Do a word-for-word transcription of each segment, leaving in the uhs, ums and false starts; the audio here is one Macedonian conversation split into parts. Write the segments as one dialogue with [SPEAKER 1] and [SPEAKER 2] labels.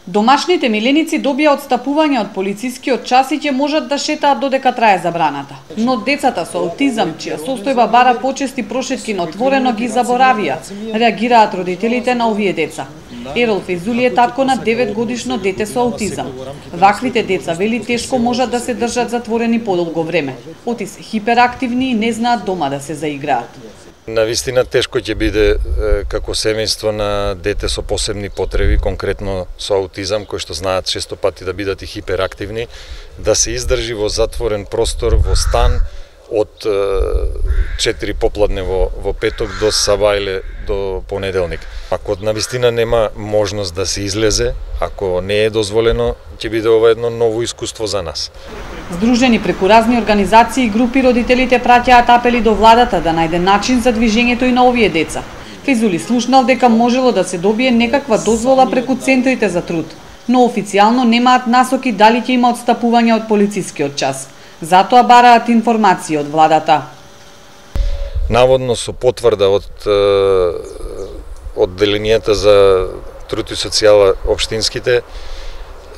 [SPEAKER 1] Домашните миленици добија отстапување од полицискиот час и ќе можат да шетаат додека трае забраната. Но децата со аутизам, чија состојба бара почести прошетки на отворено, ги заборавија, реагираат родителите на овие деца. Ерол Фезули е татко на деветгодишно дете со аутизам. Ваквите деца, вели, тешко можат да се држат затворени подолго време. Оти се хиперактивни и не знаат дома да се заиграат.
[SPEAKER 2] Навистина тешко ќе биде како семејство на дете со посебни потреби, конкретно со аутизам, кои што знаат често пати да бидат и хиперактивни, да се издржи во затворен простор, во стан, од четири попладне во, во петок до сабајле до понеделник. Ако навистина нема можност да се излезе, ако не е дозволено, ќе биде ова едно ново искуство за нас.
[SPEAKER 1] Здружени преку разни организации и групи, родителите праќаат апели до владата да најде начин за движењето и на овие деца. Фезули слушнал дека можело да се добие некаква дозвола преку центрите за труд, но официјално немаат насоки дали ќе има отстапување од полицискиот час. Затоа бараат информации од владата.
[SPEAKER 2] Наводно со потврда од одделенијата за труд и социјала општинските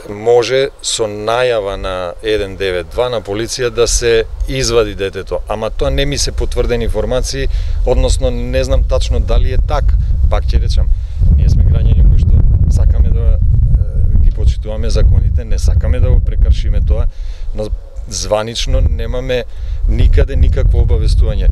[SPEAKER 2] може со најава на еден девет два на полиција да се извади детето, ама тоа не ми се потврдени информации, односно не знам тачно дали е така. Пак ќе речам, ние сме граѓани кои што сакаме да ги почитуваме законите, не сакаме да го прекршиме тоа, но званично немаме никаде никакво обавестување.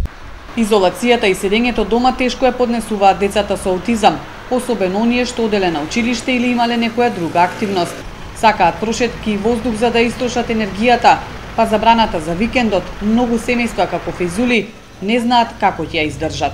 [SPEAKER 1] Изолацијата и седењето дома тешко ја поднесуваат децата со аутизам, особено оние што оделе на училиште или имале некоја друга активност. Сакаат прошетки и воздух за да истрошат енергијата, па забраната за викендот многу семејства како Фезули не знаат како ќе ја издржат.